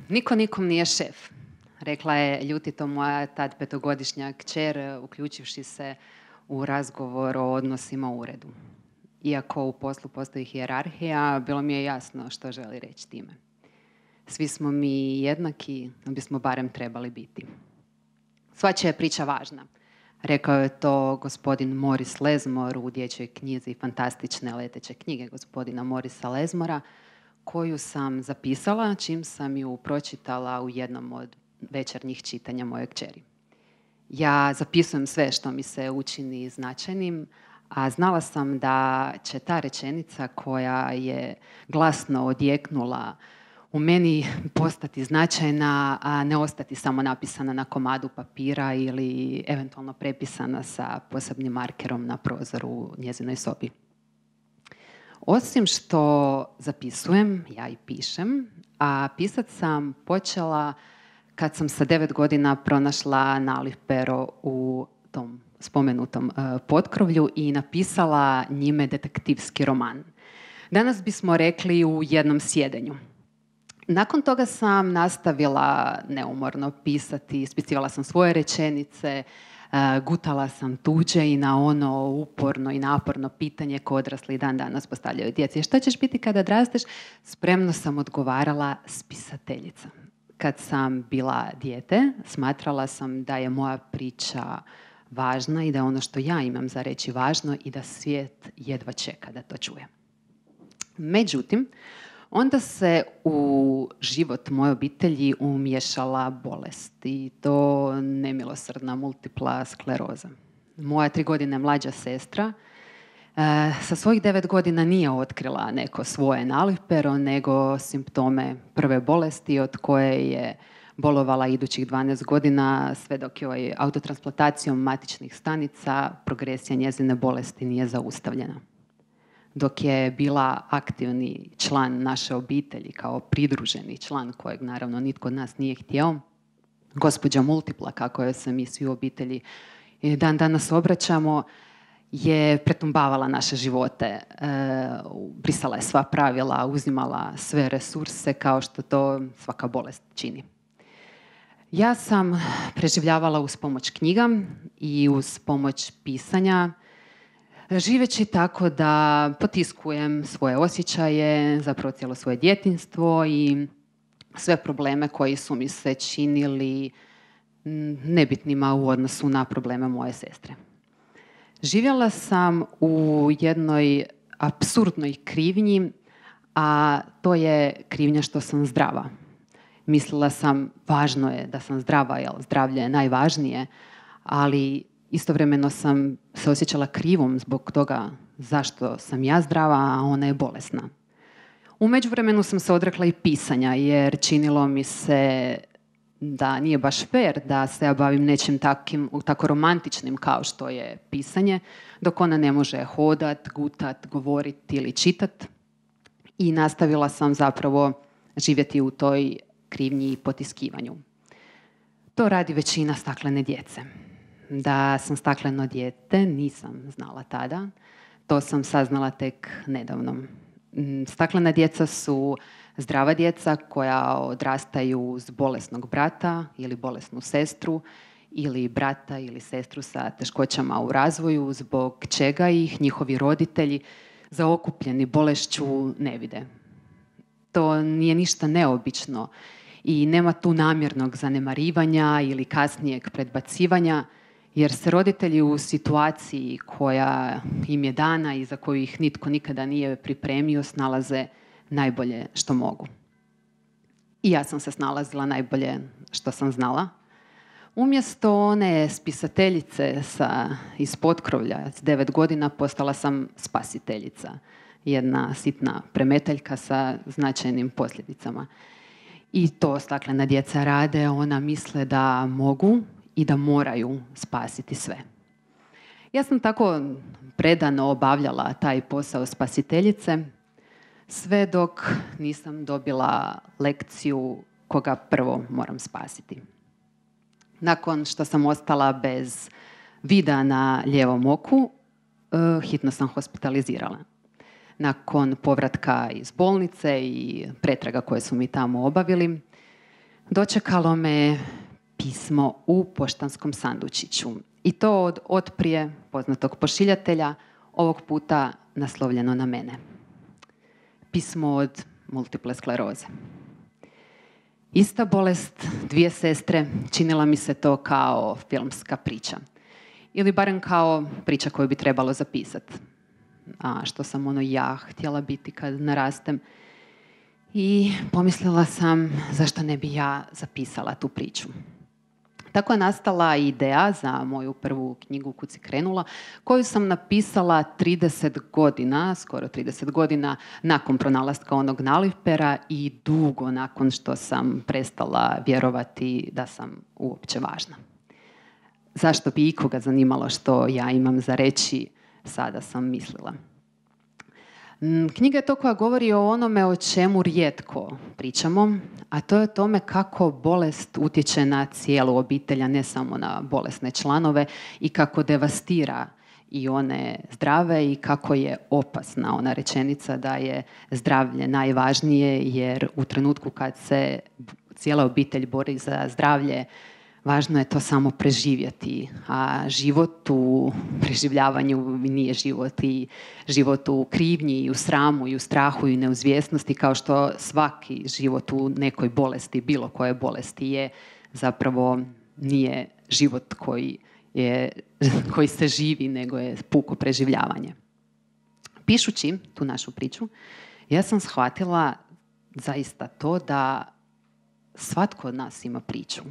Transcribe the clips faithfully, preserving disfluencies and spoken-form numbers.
Niko nikom nije šef, rekla je ljutito moja tad petogodišnja kćer, uključivši se u razgovor o odnosima u uredu. Iako u poslu postoji hijerarhija, bilo mi je jasno što želi reći time. Svi smo mi jednaki, bismo barem trebali biti. Svačija je priča važna. Rekao je to gospodin Moris Lezmor u dječjoj knjizi Fantastične leteće knjige gospodina Morisa Lezmora, koju sam zapisala čim sam ju pročitala u jednom od večernjih čitanja moje kćeri. Ja zapisujem sve što mi se učini značajnim, a znala sam da će ta rečenica koja je glasno odjeknula u meni postati značajna, a ne ostati samo napisana na komadu papira ili eventualno prepisana sa posebnim markerom na prozoru u njezinoj sobi. Osim što zapisujem, ja i pišem, a pisat sam počela kad sam sa devet godina pronašla nalih pero u tom spomenutom uh, potkrovlju i napisala njime detektivski roman. Danas bismo rekli u jednom sjedenju. Nakon toga sam nastavila neumorno pisati, ispisivala sam svoje rečenice, uh, gutala sam tuđe i na ono uporno i naporno pitanje koje odrasli dan danas postavljaju djeci. Šta ćeš biti kada odrasteš? Spremno sam odgovarala spisateljica. Kad sam bila dijete, smatrala sam da je moja priča važna i da je ono što ja imam za reći važno i da svijet jedva čeka da to čuje. Međutim, onda se u život moje obitelji umiješala bolest i to nemilosrdna multipla skleroza. Moja tri godine mlađa sestra e, sa svojih devet godina nije otkrila neko svoje nalipero, nego simptome prve bolesti od koje je bolovala idućih dvanaest godina, sve dok joj autotransplantacijom matičnih stanica progresija njezine bolesti nije zaustavljena. Dok je bila aktivni član naše obitelji, kao pridruženi član kojeg naravno nitko od nas nije htio, gospođa Multipla, kako joj se mi svi u obitelji dan danas obraćamo, je pretumbavala naše živote, e, brisala je sva pravila, uzimala sve resurse kao što to svaka bolest čini. Ja sam preživljavala uz pomoć knjiga i uz pomoć pisanja, živeći tako da potiskujem svoje osjećaje, zapravo cijelo svoje djetinjstvo i sve probleme koji su mi se činili nebitnima u odnosu na probleme moje sestre. Živjela sam u jednoj apsurdnoj krivnji, a to je krivnja što sam zdrava. Mislila sam, važno je da sam zdrava, jer zdravlje je najvažnije, ali istovremeno sam se osjećala krivom zbog toga zašto sam ja zdrava, a ona je bolesna. U međuvremenu sam se odrekla i pisanja, jer činilo mi se da nije baš fair da se ja bavim nečim takim, tako romantičnim kao što je pisanje, dok ona ne može hodat, gutat, govorit ili čitat. I nastavila sam zapravo živjeti u toj krivnji i potiskivanju. To radi većina staklene djece. Da sam stakleno dijete nisam znala tada. To sam saznala tek nedavno. Staklena djeca su zdrava djeca koja odrastaju uz bolesnog brata ili bolesnu sestru ili brata ili sestru sa teškoćama u razvoju, zbog čega ih njihovi roditelji zaokupljeni bolešću ne vide. To nije ništa neobično i nema tu namjernog zanemarivanja ili kasnijeg predbacivanja, jer se roditelji u situaciji koja im je dana i za koju ih nitko nikada nije pripremio snalaze najbolje što mogu. I ja sam se snalazila najbolje što sam znala. Umjesto one spisateljice sa, iz potkrovlja s devet godina postala sam spasiteljica. Jedna sitna premetaljka sa značajnim posljedicama. I to staklena djeca rade, ona misle da mogu i da moraju spasiti sve. Ja sam tako predano obavljala taj posao spasiteljice, sve dok nisam dobila lekciju koga prvo moram spasiti. Nakon što sam ostala bez vida na lijevom oku, hitno sam hospitalizirala. Nakon povratka iz bolnice i pretraga koje su mi tamo obavili, dočekalo me pismo u poštanskom sandučiću. I to od otprije poznatog pošiljatelja, ovog puta naslovljeno na mene. Pismo od multiple skleroze. Ista bolest, dvije sestre, činila mi se to kao filmska priča. Ili barem kao priča koju bi trebalo zapisati. A što sam ono ja htjela biti kad narastem. I pomislila sam zašto ne bi ja zapisala tu priču. Tako je nastala ideja za moju prvu knjigu Kud si krenula, koju sam napisala trideset godina, skoro trideset godina nakon pronalaska onog nalipera i dugo nakon što sam prestala vjerovati da sam uopće važna. Zašto bi ikoga zanimalo što ja imam za reći, sada sam mislila. Knjiga je to koja govori o onome o čemu rijetko pričamo, a to je o tome kako bolest utječe na cijelu obitelj, a ne samo na bolesne članove i kako devastira i one zdrave i kako je opasna ona rečenica da je zdravlje najvažnije, jer u trenutku kad se cijela obitelj bori za zdravlje, važno je to samo preživjeti, a život u preživljavanju nije život i život u krivnji i u sramu i u strahu i neuzvjesnosti, kao što svaki život u nekoj bolesti, bilo koje bolesti je, zapravo nije život koji, je, koji se živi, nego je puko preživljavanje. Pišući tu našu priču, ja sam shvatila zaista to da svatko od nas ima priču.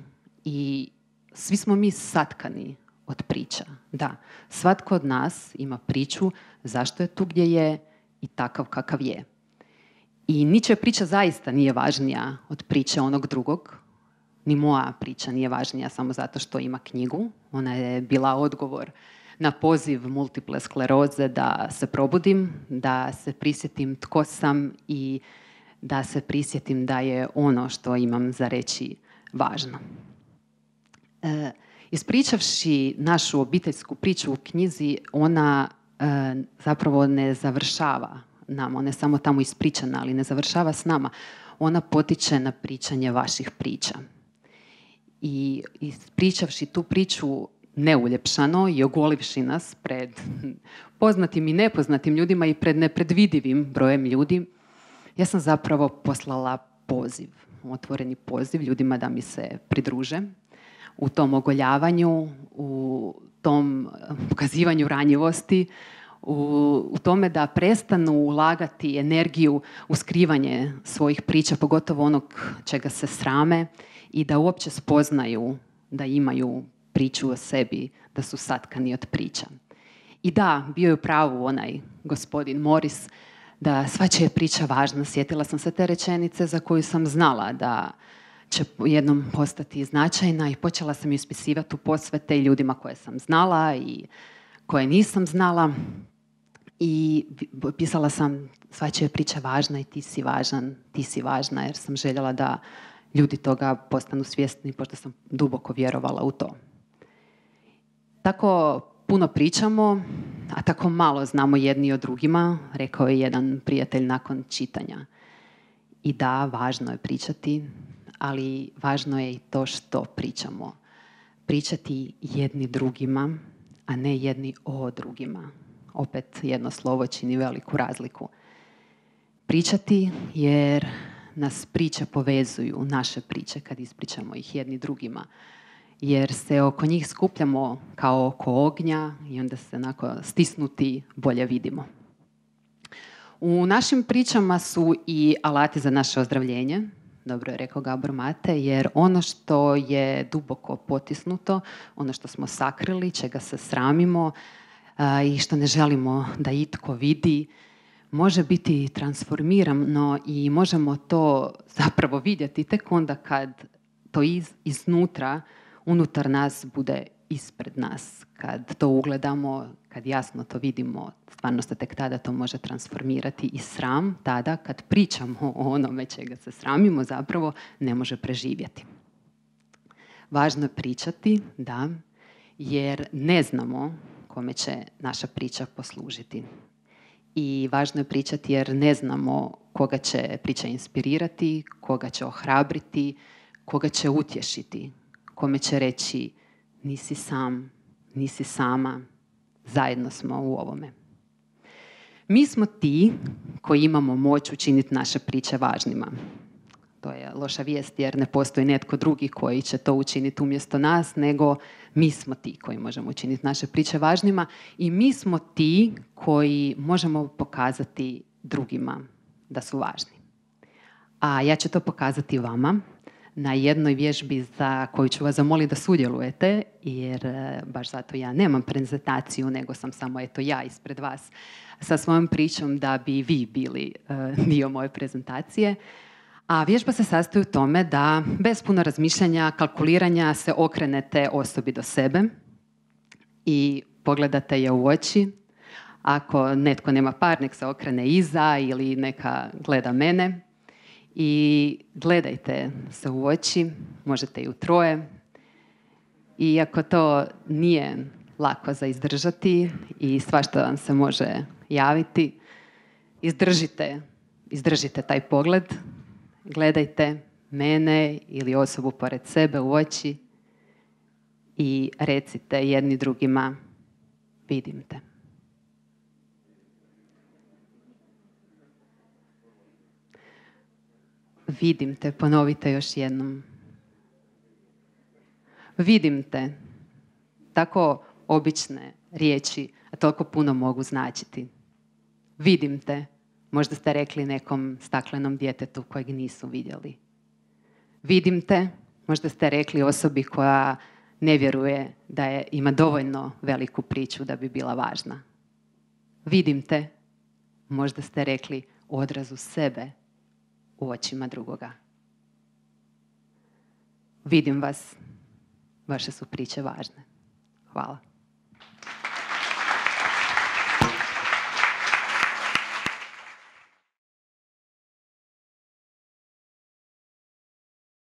I svi smo mi satkani od priča. Da, svatko od nas ima priču zašto je tu gdje je i takav kakav je. I ničija priča zaista nije važnija od priče onog drugog. Ni moja priča nije važnija samo zato što ima knjigu. Ona je bila odgovor na poziv multiple skleroze da se probudim, da se prisjetim tko sam i da se prisjetim da je ono što imam za reći važno. E, ispričavši našu obiteljsku priču u knjizi, ona e, zapravo ne završava nam, ona je samo tamo ispričana, ali ne završava s nama. Ona potiče na pričanje vaših priča. I ispričavši tu priču neuljepšano i ogolivši nas pred poznatim i nepoznatim ljudima i pred nepredvidivim brojem ljudi, ja sam zapravo poslala poziv, otvoreni poziv ljudima da mi se pridruže u tom ogoljavanju, u tom pokazivanju ranjivosti, u, u tome da prestanu ulagati energiju u skrivanje svojih priča, pogotovo onog čega se srame, i da uopće spoznaju da imaju priču o sebi, da su satkani od priča. I da, bio je u pravu onaj gospodin Morris, da svačija je priča važna. Sjetila sam se te rečenice za koju sam znala da će jednom postati značajna i počela sam ju ispisivati u posvete i ljudima koje sam znala i koje nisam znala. I pisala sam svačija je priča važna i ti si važan, ti si važna, jer sam željela da ljudi toga postanu svjesni, pošto sam duboko vjerovala u to. Tako puno pričamo, a tako malo znamo jedni o drugima, rekao je jedan prijatelj nakon čitanja. I da, važno je pričati, ali važno je i to što pričamo. Pričati jedni drugima, a ne jedni o drugima. Opet jedno slovo čini veliku razliku. Pričati jer nas priče povezuju, naše priče, kad ispričamo ih jedni drugima. Jer se oko njih skupljamo kao oko ognja i onda se onako stisnuti bolje vidimo. U našim pričama su i alati za naše ozdravljenje, dobro je rekao Gabor Mate, jer ono što je duboko potisnuto, ono što smo sakrili, čega se sramimo a, i što ne želimo da itko vidi, može biti transformirano i možemo to zapravo vidjeti tek onda kad to iz, iznutra, unutar nas bude ispred nas. Kad to ugledamo, kad jasno to vidimo, stvarno se tek tada to može transformirati i sram tada kad pričamo o onome čega se sramimo zapravo ne može preživjeti. Važno je pričati, da, jer ne znamo kome će naša priča poslužiti. I važno je pričati jer ne znamo koga će priča inspirirati, koga će ohrabriti, koga će utješiti, kome će reći nisi sam, nisi sama, zajedno smo u ovome. Mi smo ti koji imamo moć učiniti naše priče važnima. To je loša vijest jer ne postoji netko drugi koji će to učiniti umjesto nas, nego mi smo ti koji možemo učiniti naše priče važnima i mi smo ti koji možemo pokazati drugima da su važni. A ja ću to pokazati vama na jednoj vježbi za koju ću vas zamoliti da sudjelujete, jer baš zato ja nemam prezentaciju, nego sam samo eto ja ispred vas sa svojom pričom da bi vi bili uh, dio moje prezentacije. A vježba se sastoji u tome da bez puno razmišljanja, kalkuliranja se okrenete osobi do sebe i pogledate je u oči. Ako netko nema par, nek se okrene iza ili neka gleda mene. I gledajte se u oči, možete i u troje. Iako to nije lako za izdržati i svašta vam se može javiti, izdržite, izdržite taj pogled. Gledajte mene ili osobu pored sebe u oči i recite jedni drugima vidim te. Vidim te, ponovite još jednom. Vidim te. Tako obične riječi, a toliko puno mogu značiti. Vidim te. Možda ste rekli nekom staklenom djetetu kojeg nisu vidjeli. Vidim te. Možda ste rekli osobi koja ne vjeruje da je, ima dovoljno veliku priču da bi bila važna. Vidim te. Možda ste rekli odrazu sebe u očima drugoga. Vidim vas. Vaše su priče važne. Hvala.